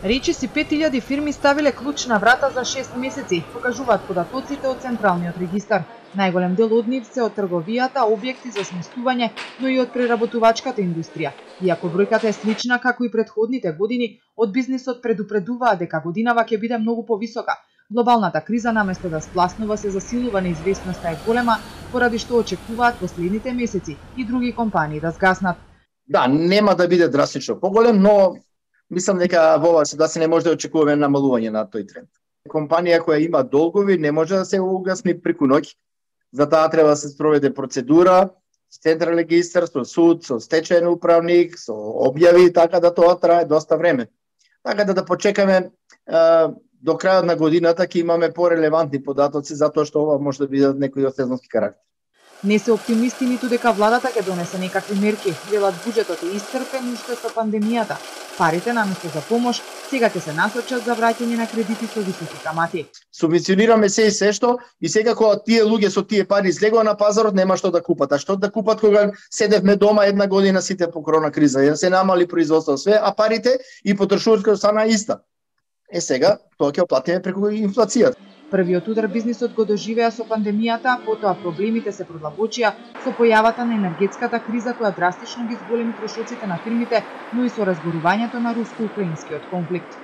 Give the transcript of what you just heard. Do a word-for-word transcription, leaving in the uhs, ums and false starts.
Речиси пет илјади фирми ставиле клуч на врата за шест месеци, покажуваат податоците од Централниот регистар. Најголем дел од нив се од трговијата, објекти за сместување, но и од преработувачката индустрија. Иако бројката е слична како и претходните години, од бизнисот предупредуваат дека годинава ќе биде многу повисока. Глобалната криза наместо да спласнува се засилува, неизвестноста е голема, поради што очекуваат последните месеци и други компании да згаснат. Да, нема да биде драстично поголем, но мислам дека во оваа ситуација не може да очекуваме намалување на тој тренд. Компанија која има долгови не може да се угасни преку ноќ. За таа треба да се спроведе процедура, Централен регистар, со суд, со стечаен управник, со објави, така да тоа трае доста време. Така да да почекаме е, до крајот на годината ќе имаме порелевантни податоци затоа што ова може да биде некои од сезонски карактер. Не се оптимисти ниту дека владата ќе донесе некакви мерки, велат буџетот е исцрпен уште со пандемијата. Парите наместо за помош сега ќе се насочат за враќање на кредити со високи камати. Субвенционираме се и се што и сега кога тие луѓе со тие пари излегоа на пазарот нема што да купат. А што да купат кога седевме дома една година сите по корона криза, ја се намали производство све, а парите и потрошувачката стана иста. Е сега тоа ќе оплатиме преку инфлацијата. Првиот удар бизнисот го доживеа со пандемијата, потоа проблемите се продлабочија со појавата на енергетската криза која драстично ги зголеми трошоците на фирмите, но и со разгорувањето на руско-украинскиот конфликт.